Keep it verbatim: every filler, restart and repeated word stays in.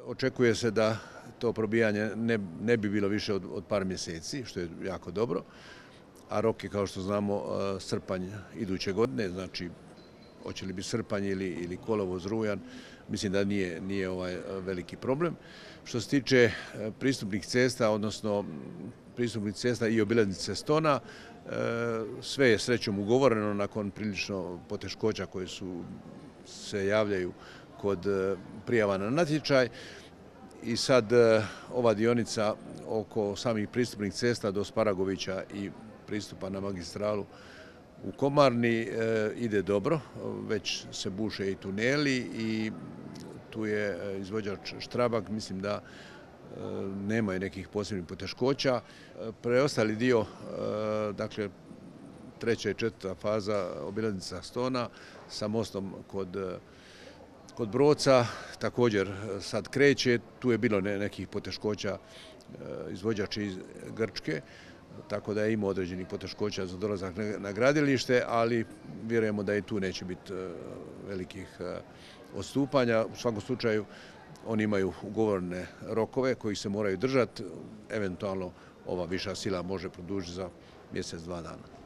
Očekuje se da to probijanje ne, ne bi bilo više od, od par mjeseci, što je jako dobro, a rok je, kao što znamo, srpanj iduće godine, znači hoće li biti srpanj ili, ili kolovoz, rujan, mislim da nije, nije ovaj veliki problem. Što se tiče pristupnih cesta, odnosno pristupnih cesta i obilaznice Stona, sve je srećom ugovoreno nakon prilično poteškoća koje su se javljaju kod prijava na natječaj. I sad ova dionica oko samih pristupnih cesta do Sparagovića i pristupa na magistralu u Komarni ide dobro, već se buše i tuneli i tu je izvođač Štrabak, mislim da nemaju nekih posebnih poteškoća. Preostali dio, dakle treća i četvrta faza obilaznica Stona sa mostom kod Kod Broca također sad kreće, tu je bilo nekih poteškoća, izvođač iz Grčke, tako da je imao određenih poteškoća za dolazak na gradilište, ali vjerujemo da i tu neće biti velikih odstupanja. U svakom slučaju oni imaju ugovorene rokove koji se moraju držati, eventualno ova viša sila može produžiti za mjesec, dva dana.